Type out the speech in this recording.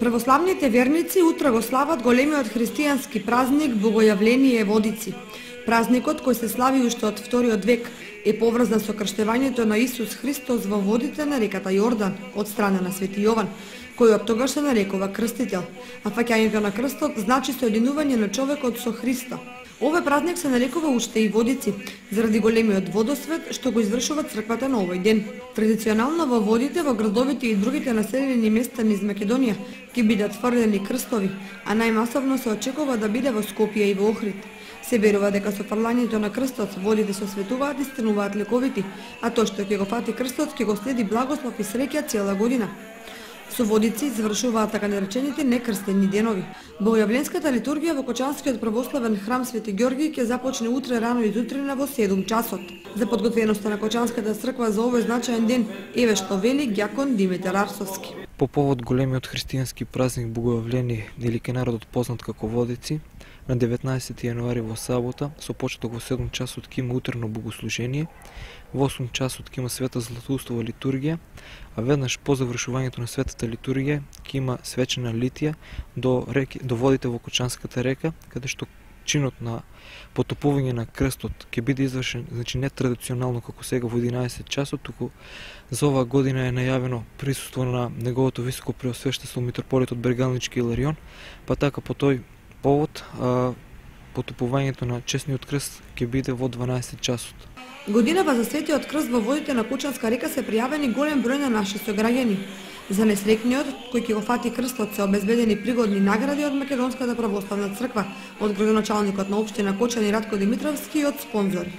Православните верници утре го слават големиот христијански празник Богојавление Водици. Празникот, кој се слави уште од вториот век, е поврзан со крштевањето на Исус Христос во водите на реката Јордан од страна на Свети Јован, кој од тогаш се нарекува крстител, а фаќањето на крстот значи соединување на човекот со Христа. Овој празник се нарекува уште и Водици, заради големиот водосвет што го извршува црквата на овој ден. Традиционално во водите во градовите и другите населени места низ Македонија ќе бидат фрлени крстови, а најмасовно се очекува да биде во Скопје и во Охрид. Се верува дека со фрлањето на крстот водите се осветуваат и стануваат лековити, а тој што ќе го фати крстот ќе го следи благослов и среќа цела година. Со Водици завршуваат така наречените некрстени денови. Богојавленската литургија во Кочанскиот православен храм Свети Ѓорги ќе започне утре рано изутрина во 7 часот. За подготвеноста на Кочанската црква за овој значаен ден, еве што вели ѓакон Димитар Арсовски. По повод големиот христијански празник Богојавление, или ке народот познат како Водици, на 19 јануари во сабота, со почеток во 7 часот ќе има утрено богослужение, во 8 часот ќе има света златоустова литургија, а веднаш по завршувањето на светата литургија ќе има свечена литија до водите во Кочанската река, каде што чинот на потопување на крстот ќе биде извршен, значи не традиционално како сега во 11 часот, туку за оваа година е најавено присуство на неговото високо преосвештество митрополитот Бергалнички Иларион, па така по тој повод потопувањето на честниот крст ќе биде во 12 часот. Годинава за светиот крст во водите на Кочанска река се пријавени голем број на наши сограѓани. За несреќниот кој ќе го фати крстот се обезбедени пригодни награди од Македонската православна црква, од градоначалникот на општина Кочани Ратко Димитровски и од спонзори.